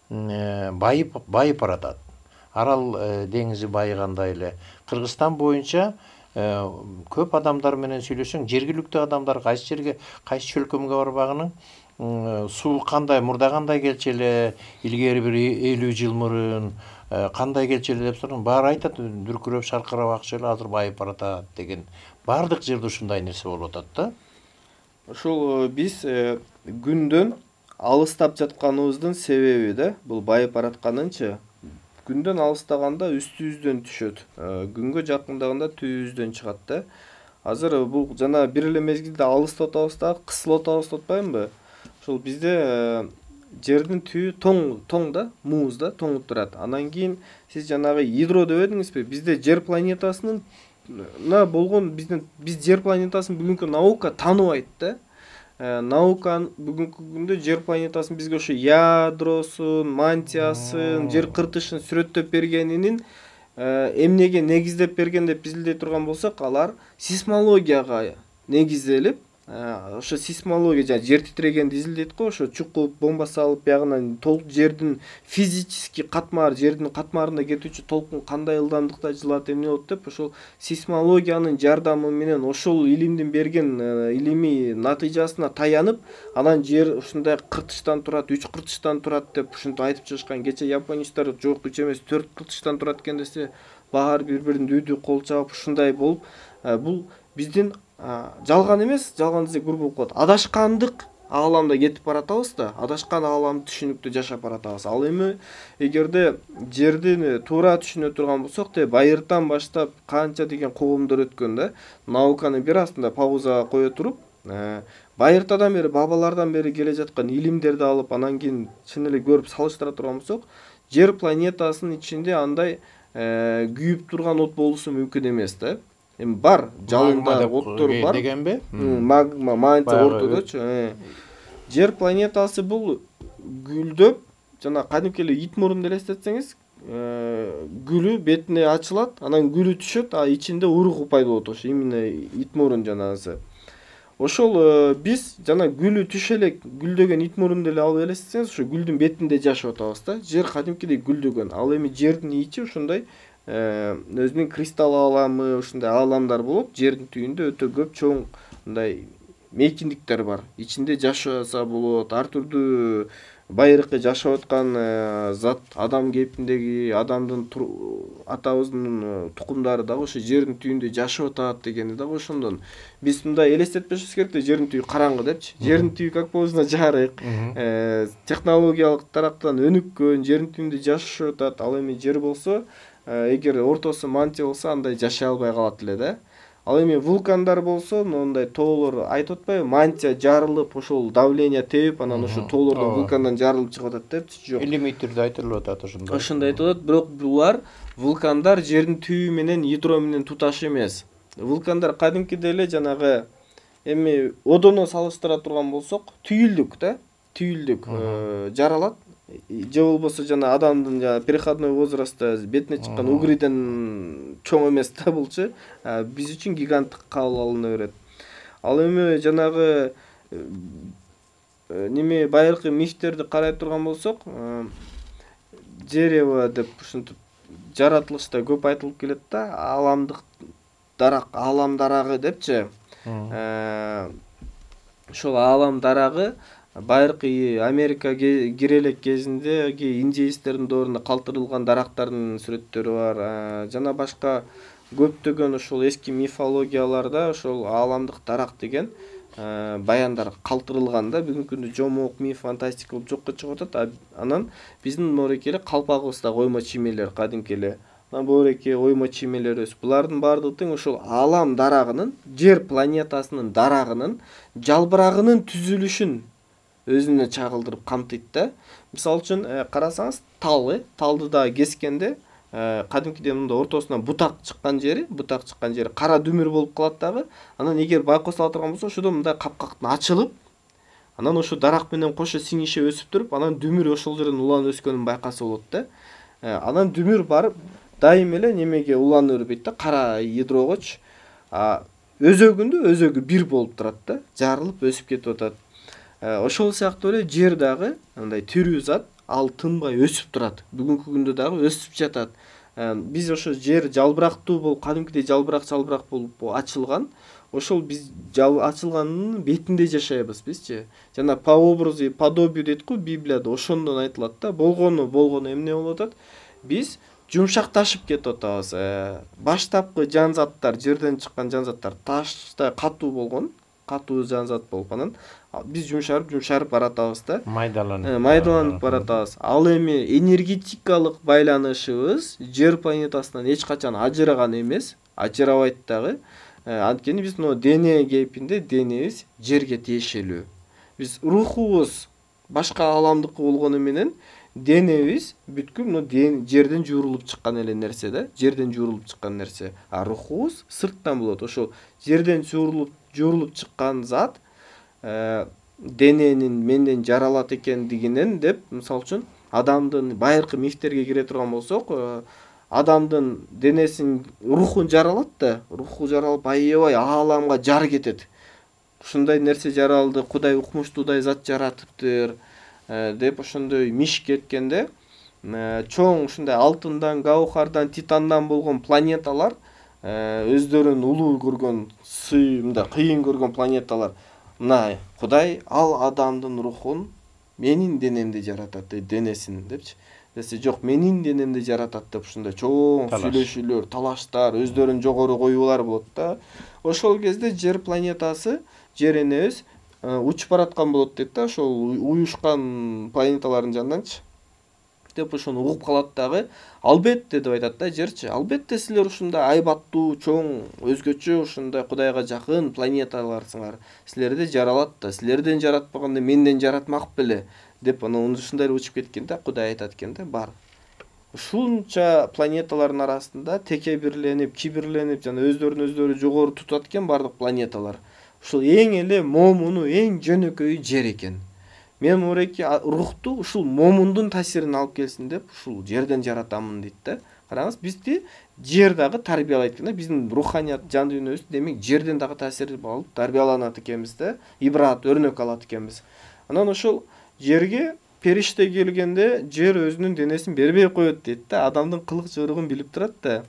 Speaker 1: байып баратат. Арал деңизи байыгандай эле. Кыргызстан боюнча көп адамдар менен сүйлөшсөң, жергиликтүү адамдар кайсы жерге, кайсы чөлкөмгө барбагының суу кандай, мурда кандай келчү эле, илгери бир 50 жыл мурун кандай келчү эле деп сурасаң, баары айтат, дүркүрөп шаркырап акчу эле, азыр байып баратат деген. Бардык жерде ушундай нерсе болуп атат да.
Speaker 2: Ошол биз күндөн алыстап жатканыбыздын себеби да, бул байып баратканынчы. Күндөн алыстаганда үстүбүздөн түшөт. Күнгө жакындаганда түбүбүздөн чыгат да. Азыр бул жана бир эле мезгилде алыстап атабыз да, кысылып атабыз деп атпаймынбы? Ошол бизде жердин түбү тоң да, муз да, тоңуп турат. Анан кийин сиз жанагы ядро дебедиңизби? Бизде жер планетасынын биз жер планетасын бүгүнкү наука тааныбайт да. Наука бүгүнкү күндө жер планетасын бизге ошо ядросун, мантиясын, жер кыртышын сүрөттөп бергенинин эмнеге негиздеп берген деп биз илдей турган болсок, алар сейсмологияга негизделип, ошо сейсмология жана жер титирегенди изилдейт го, ошо чукуп, бомба салып, биягынан жердин физический катмар, жердин катмарында кетүүчү толкун кандай ылдамдыкта жылат, эмне болот деп, ошол сейсмологиянын жардамы менен ошол илимдин берген илимий натыйжасына таянып, анан жер ушундай кыртыштан турат, 3 кыртыштан турат деп ушинтип айтып чыгышкан. Кече японецтер жок 3 эмес 4 кыртыштан турат экен десе, баары бири-бирин дүйдү кол чабып ушундай болуп, бул биздин жалган эмес, жалган десек бур болуп калат. Адашкандык ааламда кетип баратабыз да, адашкан ааламды түшүнүктүү жашап баратабыз. Ал эми эгерде жерди туура түшүнө турган болсок, байыртан баштап канча деген коомдор өткөн да, науканы бир астында паузага кое туруп, байыртадан бери, бабалардан бери келе жаткан илимдерди алып, анан кийин чын эле көрүп салыштыра турган болсок, жер планетасынын ичинде андай күйүп турган от болуусу мүмкүн эмес да. Эми бар, жалында оттор бар
Speaker 1: дегенби?
Speaker 2: Магма, мантия ортодочу. Жер планетасы бул гүлдөп, жана кадимки эле ит мурунду элестетсеңиз, гүлү бетине ачылат, анан гүлү түшөт, а ичинде уругу пайда болот, ошо именно ит мурун жанагысы. Ошол биз жана гүлү түшө элек гүлдөгөн ит мурунду эле алып элестетсеңиз, ошо гүлдүн бетинде жашап атабыз да. Жер кадимкидей гүлдөгөн. Ал эми жердин ичи ушундай өзүнүн кристалл ааламы, ушундай ааламдар болот. Жердин түбүндө өтө көп чоң мындай мейкиндиктер бар. Ичинде жашаса болот, ар түрдүү байыркы жашап аткан зат, адам кейпиндеги адамдын атабыздын тукумдары дагы ошо жердин түбүндө жашап атат дегени дагы ошондон. Биз мындай элестетпешибиз керек да, жердин түбү караңгы депчи. Жердин түбү как болсо жарык, технологиялык тараптан өнүккөн, жердин түбүндө жашашып атат. Ал эми жер болсо, эгер ортосу мантия болсо, андай жашай албай калат эле да. Ал эми вулкандар болсо, моундай тоолор айтып атпайбы, мантия жарылып, ошол давление тебип, анан ошо тоолордон вулкандан жарылып чыгып атат депчи. Жок.
Speaker 1: Илимий түрдө айтылып атат ошондой.
Speaker 2: Ошондой айтылып атат, бирок булар вулкандар жердин түбү менен ядро менен туташ эмес. Вулкандар кадимкиде эле жанагы эми одоно салыштыра турган болсок, түйүлдүк да, жаралат. Же болбосо жана адамдын переходной возрастта бетине чыккан угриден чоң эмес да булчу. Биз үчүн гиганттык кабыл алына берет. Ал эми жанагы неме байыркы мифтерди карай турган болсок, дерево деп ушинтип жаратылышта көп айтылып келет да, аламдык дарак, аалам дарагы депчи. Ошол аалам дарагы байыркы Америка кире элек кезинде индеецтердин доорунда калтырылган дарактардын сүрөттөрү бар. Жана башка көптөгөн ошол эски мифологияларда ошол ааламдык дарак деген баяндар калтырылган да. Бүгүнкү күндө жомок, миф, фантастика болуп жокко чыгып атат. Анан биздин мореке эле калпагыбызда оймо чимелер кадимки эле. Анан боореке оймо чимелерибиз. Булардын баардыгы тең ошол аалам дарагынын, жер планетасынын дарагынын жалбырагынын түзүлүшүн өзүнө чагылдырып камтыйт да. Мисалы үчүн карасаңыз, талды да кескенде кадимкиде мында ортосунан бутак чыккан жери кара дүмүр болуп калат дагы. Анан эгер байкос ала турган болсо, ошодо мындай капкактын ачылып, анан ошо дарак менен кошо сиңише өсүп туруп, анан дүмүр ошол жерден уланып өскөнүн байкаса болот да. Анан дүмүр барып дайым эле немеге уланып бербейт да, кара ядрогочу. Өзөгү бир болуп турат да, жарылып өсүп кетип атат. Ошол сыяктуу эле жер дагы андай тирүү зат, ал тынбай өсүп турат. Бүгүнкү күндө дагы өсүп жатат. Биз ошо жер жалбырактуу болуп, кадимкидей жалбырак болуп ачылган. Ошол биз ачылганын бетинде жашайбыз бизчи. Жана по образу и подобию дейт го Библияда, ошондон айтылат да. Болгону эмне болуп атат? Биз жумшакташып кетип атабыз. Баштапкы жан заттар, жерден чыккан жан заттар таштай катуу болгон, катуу жан зат болуп, анан биз жумшарып баратабыз да. Майдаланып баратабыз. Ал эми энергетикалык байланышыбыз жер планетасынан эч качан ажыраган эмес, ажырабайт дагы. Анткени биз дене кейпинде денебиз жерге тиешелүү. Биз рухубуз башка ааламдыкы болгону менен денебиз бүткүл жерден жуурулуп чыккан эле нерсе да, жерден жуурулуп чыккан нерсе. А рухубуз сырттан болот. Ошол жерден жуурулуп чыккан зат дененин менден жаралат экендигинен деп, мисалы үчүн адамдын байыркы мифтерге кире турган болсок, адамдын денесин, рухун жаралат да, руху жаралып аябай ааламга жар кетет. Ушундай нерсе жаралды, Кудай укмуштуудай зат жаратыптыр деп ошондой миш кеткенде, чоң ушундай алтындан, гаухардан, титандан болгон планеталар, өздөрүн улуу көргөн, мындай кыйын көргөн планеталар, мына Кудай ал адамдын рухун менин денемде жаратат, денесин депчи. Десе жок, менин денемде жаратат деп ушундай чоң сүйлөшүүлөр, талаштар, өздөрүн жогору коюулар болот да. Ошол кезде жер планетасы, жер энебиз учуп бараткан болот дейт да, ошол уюшкан планеталардын жанынданчы. Деп ошону угуп калат дагы. Албетте деп айтат да жерчи. Албетте силер ушундай айбаттуу, чоң, өзгөчө ушундай Кудайга жакын планеталарсыңар. Силерди жаралат да. Силерден жаратпаганда менден жаратмак беле деп анан ушундай учуп кеткенде Кудай айтат экен да, бар. Ушунча планеталардын арасында текебирленип, кибирленип, жана өздөрүн жогору тутат экен бардык планеталар. Ушул эң эле момуну, эң жөнөкөйү жер экен. Мен мореке рухту ушул момундун таасирин алып келсин деп ушул жерден жаратамын дейт да. Караңыз, бизди жер дагы тарбиялайт экен да. Биздин руханият, жан дүйнөбүз демек жерден дагы таасир алып тарбияланат экенбиз да. Ибрат, өрнөк алат экенбиз. Анан ошол жерге периште келгенде жер өзүнүн денесин бербей коет дейт да. Адамдын кылык жоругун билип турат да.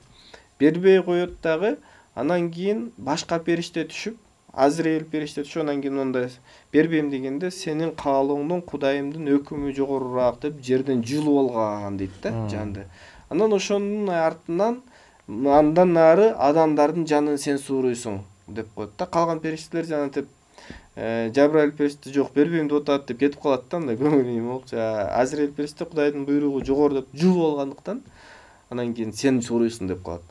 Speaker 2: Бербей коет дагы. Анан кийин башка периште түшүп, Азраил периште ошондон кийин мындай бербейм дегенде сенин каалооңдон Кудайымдын өкүмү жогорураак деп жерден жұлуп алган дейт да жанды. Анан ошонун артынан андан нары адамдардын жанын сен сууруйсуң деп коет да. Калган периштелер жанагынтип Жабраил периште жок бербейм деп атат деп кетип калат да, мындай көңүл эме болчу. Азраил периште Кудайдын буйругу жогору деп жұлуп алгандыктан анан кийин сен сууруйсуң деп коет.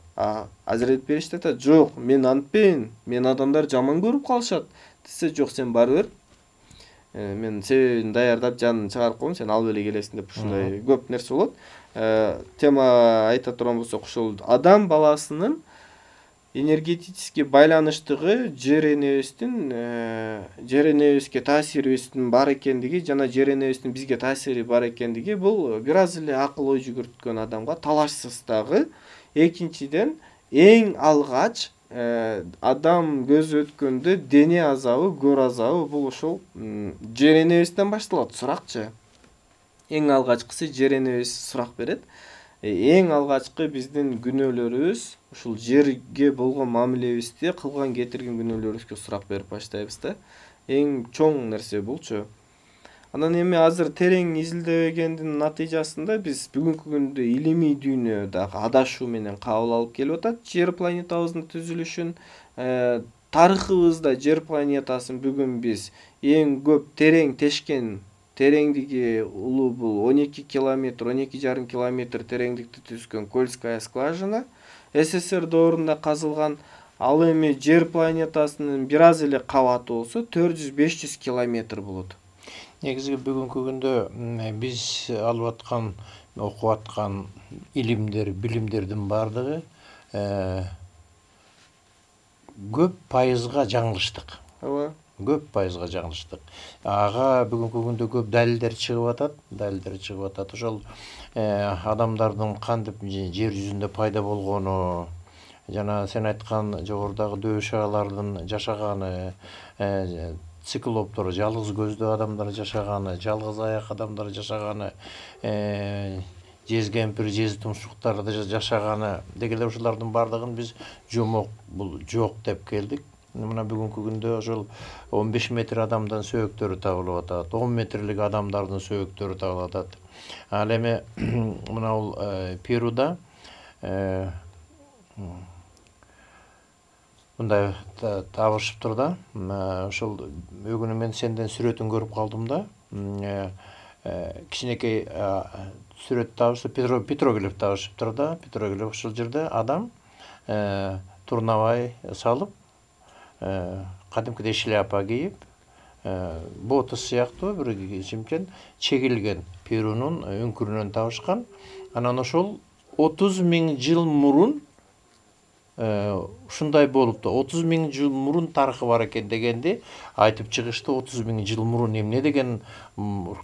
Speaker 2: Азраил периште айтат, жок, мен антпейм, мен адамдар жаман көрүп калышат десе, жок, сен бары бер, мен себебин даярдап жанын чыгарып коем, сен алып эле келесиң деп ушундай көп нерсе болот. Тема айта турган болсок, ушул адам баласынын энергетически байланыштыгы жер энебизге таасирибиздин бар экендиги жана жер энебиздин бизге таасири бар экендиги бул бир аз эле акыл ой жүгүрткөн адамга талашсыз дагы. Экинчиден, эң алгач адам көзү өткөндө дене азабы, көр азабы бул ошол жер энебизден башталат. Суракчы. Эң алгачкысы жер энебиз сурак берет. Эң алгачкы биздин күнөөлөрүбүз ушул жерге болгон мамилебизде кылган кетирген күнөөлөрүбүзгө сурак берип баштайбыз да. Эң чоң нерсе булчу. Анан эми азыр терең изилдебегендин натыйжасында биз бүгүнкү күндө илимий дүйнө дагы адашуу менен кабыл алып келип атат жер планетабыздын түзүлүшүн. Тарыхыбызда жер планетасын бүгүн биз эң көп терең тешкен тереңдиги улуу бул 12 километр, 12,5 километр тереңдикти түзгөн Кольская скважина СССР доорунда казылган. Ал эми жер планетасынын бир аз эле кабаты болсо 400-500 километр болот.
Speaker 1: Негизи бүгүнкү күндө биз алып аткан, окуп аткан илимдер, билимдердин баардыгы көп пайызга жаңылыштык.
Speaker 2: Ооба.
Speaker 1: Көп пайызга жаңылыштык. Ага бүгүнкү күндө көп далилдер чыгып атат. Ошол адамдардын кантип жер жүзүндө пайда болгону, жана сен айткан жогорудагы дөшагалардын жашаганы, циклоптор, жалгыз көздүү адамдар жашаганы, жалгыз аяк адамдар жашаганы, жез кемпир, жез тумшуктар жашаганы дегеле ушулардын баардыгын биз жомок, бул жок деп келдик. Мына бүгүнкү күндө ошол 15 метр адамдын сөөктөрү табылып атат, 10 метрлик адамдардын сөөктөрү табылып атат. Ал эми мына бул Перуда мындай табышыптыр да. Ошол бүгүн мен сенден сүрөтүн көрүп калдым да. Кичинекей сүрөт табышып, петроглиф табышыптыр да. Петроглиф ушул жерде адам турнабай салып, кадимкидей шляпа кийип, ботус сыяктуу бир кичимчен чегилген Перунун үңкүрүнөн табышкан. Анан ошол 30 000 жыл мурун ушундай болупту. 30 000 жыл мурун тарыхы бар экен дегенди айтып чыгышты. 30 000 жыл мурун эмне деген,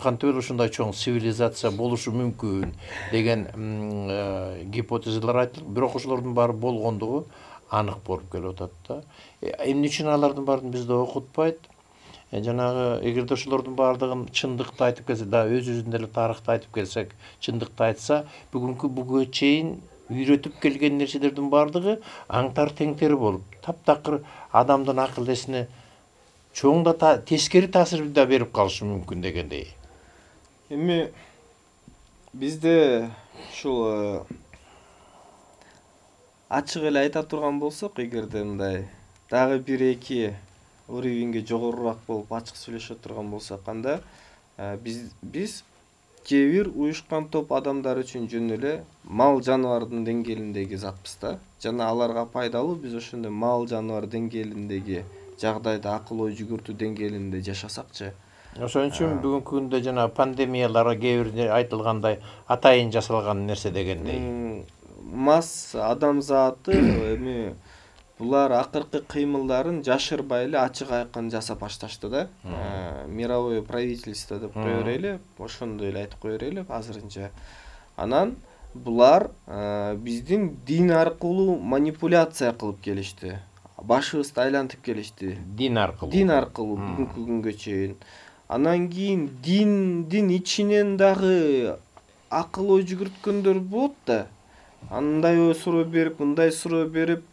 Speaker 1: кантип эле ушундай чоң цивилизация болушу мүмкүн деген гипотезалар айтылып, бирок ошолордун баары болгондугу анык болуп келип атат да. Эмне үчүн алардын баарын бизде окутпайт? Жанагы эгерде ошолордун баардыгын чындыкты айтып келсе, да өзүбүздүн эле тарыхты айтып келсек, чындыкты айтса, бүгүнкү буга чейин үйрөтүп келген нерселердин баардыгы аңтар теңтери болуп, таптакыр адамдын акыл эсине чоң да тескери таасир да берип калышы мүмкүн дегендей.
Speaker 2: Эми бизде ушул ачык эле айта турган болсок, эгерде мындай дагы 1-2 уровеньге жогорураак болуп ачык сүйлөшө турган болсок, анда биз кээ бир уюшкан топ адамдар үчүн жөн эле мал жаныбардын деңгээлиндеги затпыз да. Жана аларга пайдалуу биз ошондой мал жаныбар деңгээлиндеги жагдайда акыл ой жүгүртүү деңгээлинде жашасакчы.
Speaker 1: Ошон үчүн бүгүнкү күндө жана пандемиялар кээ бир айтылгандай атайын жасалган нерсе дегендей.
Speaker 2: Масс адамзаты эми булар акыркы кыймылдарын жашырбай эле ачык айкын жасап башташты да. Мировое правительство деп кое берели, ошондой эле айтып кое берели азырынча. Анан булар биздин дин аркылуу манипуляция кылып келишти. Башыбызды айлантып келишти.
Speaker 1: Дин аркылуу
Speaker 2: бүгүнкү күнгө чейин. Анан кийин диндин ичинен дагы акыл ой жүгүрткөндөр болот да. Андай суроо берип, мындай суроо берип,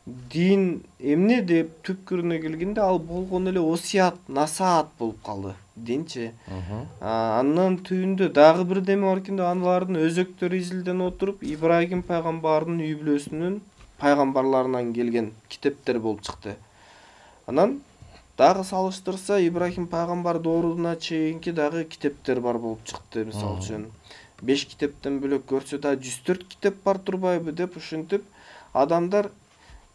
Speaker 2: дин эмне деп түпкүрүнө келгенде ал болгон эле осуят насаат болуп калды динчи. Андан түбүндө дагы бирдеме бар экен, алардын өзөктөрү изилденип отуруп Ибрагим пайгамбардын үй бүлөсүнүн пайгамбарларынан келген китептер болуп чыкты. Анан дагы салыштырса Ибрагим пайгамбар дооруна чейинки дагы китептер бар болуп чыкты. Мисалы үчүн 5 китептен бөлөк көрсө да 104 китеп бар турбайбы деп ушинтип адамдар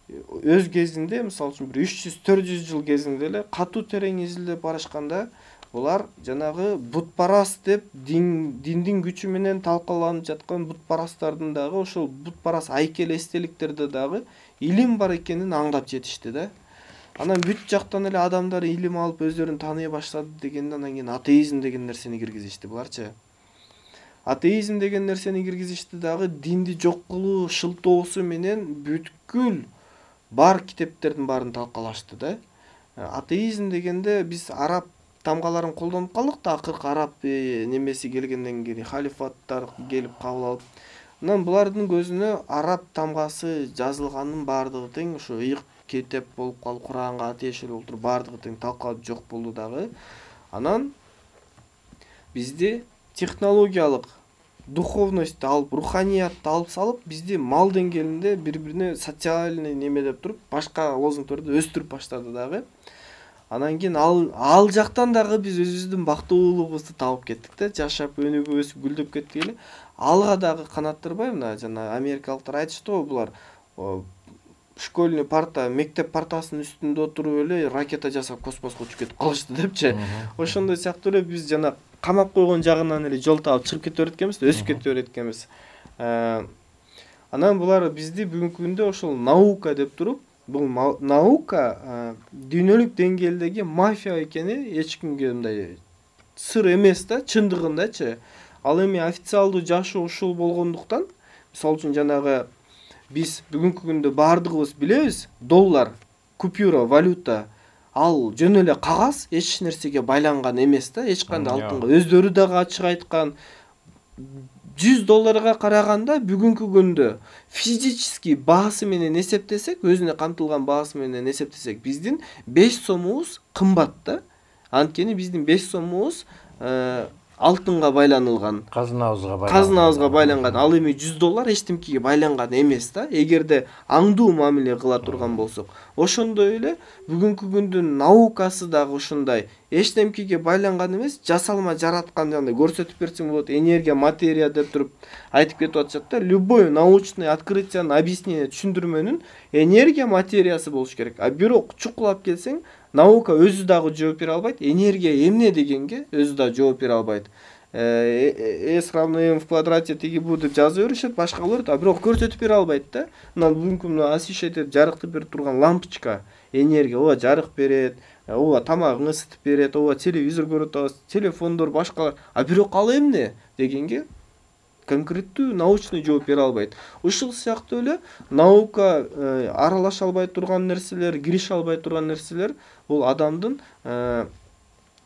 Speaker 2: өз кезинде, мисалы үчүн бир 300-400 жыл кезинде эле катуу терең изилдеп барышканда булар жанагы бутпарас деп диндин күчү менен талкаланып жаткан бутпарастардын дагы ошол бутпарас айкел эстеликтерде дагы илим бар экенин аңдап жетишти да. Анан бүт жактан эле адамдар илим алып өздөрүн тааный баштады дегенде анан кийин атеизм деген нерсени киргизишти буларчы. Атеизм деген нерсени киргизишти дагы динди жок кылуу шылтоосу менен бүткүл бар китептердин баарын талкалашты да. Атеизм дегенде биз араб тамгаларын колдонуп калдык да, акыркы араб немеси келгенден кийин халифаттар келип кабыл алып. Анан булардын көзүнө араб тамгасы жазылганын баардыгы тең ушу ыйык китеп болуп калып, Куранга тиешелүү болуп туруп баардыгы тең талкалап жок болду дагы. Анан бизди технологиялык духовностьту алып, руханиятты алып салып, бизди мал деңгээлинде бири-бирине социальный неме деп туруп, башка лозунгдорду өстүрүп баштады дагы. Анан кийин ал жактан дагы биз өзүбүздүн бактылуулугубузду табып кеттик да, жашап, өнүгүп, өсүп, гүлдөп кеттик эле. Алга дагы канаттырбай, мына жана америкалыктар айтышты го, булар школьный парта, мектеп партасынын үстүндө отуруп эле ракета жасап космоско учуп кетип калышты депчи. Ошондой сыяктуу эле биз жана камап койгон жагынан эле жол таап чыгып кете берет экенбиз, өсүп кете берет экенбиз. Анан булар бизди бүгүнкү күндө ошол наука деп туруп, бул наука дүйнөлүк деңгээлдеги мафия экени эч кимге мындай сыр эмес да, чындыгындачы. Ал эми официалдуу жашоо ушул болгондуктан, мисалы үчүн жанагы биз бүгүнкү күндө баардыгыбыз билебиз, доллар, купюра, валюта ал жөн эле кагаз, эч нерсеге байланган эмес да, эч кандай алтынга. Өздөрү дагы ачык айткан, $100 караганда бүгүнкү күндө физический баасы менен эсептесек, өзүнө камтылган баасы менен эсептесек, биздин 5 сомубуз кымбат да. Анткени биздин 5 сомубуз алтынга байланылган, казынабызга байланган. Ал эми $100 эчтемкеге байланган эмес да, эгерде аңдуу мамиле кыла турган болсок. Ошондой эле бүгүнкү күндүн наукасы дагы ушундай эчтемкеге байланган эмес, жасалма жараткан жандай көрсөтүп берсең болот, энергия, материя деп туруп айтып кетип атышат да. Любой научный открытиянын, объяснение, түшүндүрмөнүн энергия, материясы болуш керек. А бирок чукулап келсең, наука өзү дагы жооп бере албайт, энергия эмне дегенге өзү дагы жооп бере албайт. S равно m в квадрате тиги бу деп жазып беришет, башкалар, а бирок көрсөтүп бере албайт да. Мына бүгүнкү освещать жарыктып берип турган лампочка энергия, ооба жарык берет, ооба тамагыңы ысытып берет, ооба телевизор көрүп атабыз, телефондор, башкалар. А бирок ал эмне дегенге конкреттүү научный жооп бере албайт. Ушул сыяктуу эле наука аралаша албай турган нерселер, кирише албай турган нерселер бул адамдын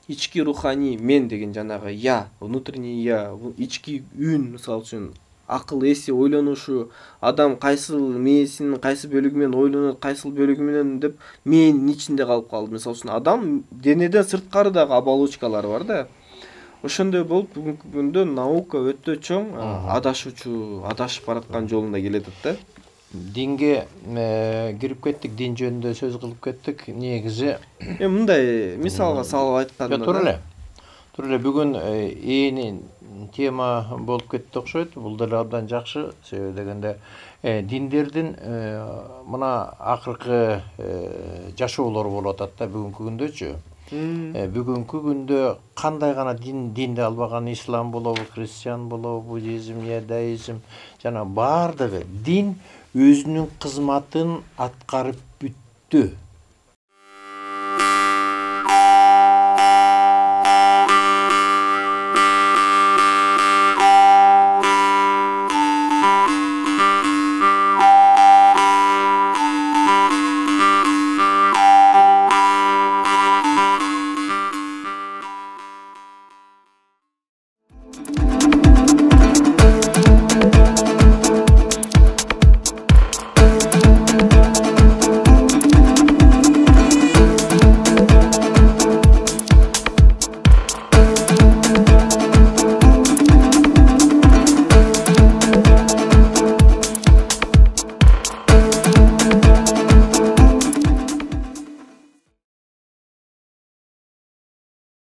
Speaker 2: ички руханий мен деген жанагы я, внутренний я, ички үн, мисалы үчүн акыл эси, ойлонушу, адам кайсыл мээсинин кайсы бөлүгү менен ойлонот, кайсыл бөлүгү менен деп мээнин ичинде калып калды. Мисалы үчүн адам денеден сырткары дагы оболочкалары бар да. Ошондой болуп бүгүнкү күндө наука өтө чоң адашуучу, адашып бараткан жолунда келатат да.
Speaker 1: Динге кирип кеттик, дин жөнүндө сөз кылып кеттик. Негизи
Speaker 2: мындай мисалга салып айтканда
Speaker 1: тура эле бүгүн ээн тема болуп кетти окшойт. Бул деле абдан жакшы, себеби дегенде диндердин мына акыркы жашоолору болуп атат да бүгүнкү күндөчү. Бүгүнкү күндө кандай гана динди албаган, ислам болобу, христиан болобу, буддизм, иудаизм, жана баардыгы дин өзүнүн кызматын аткарып бүттү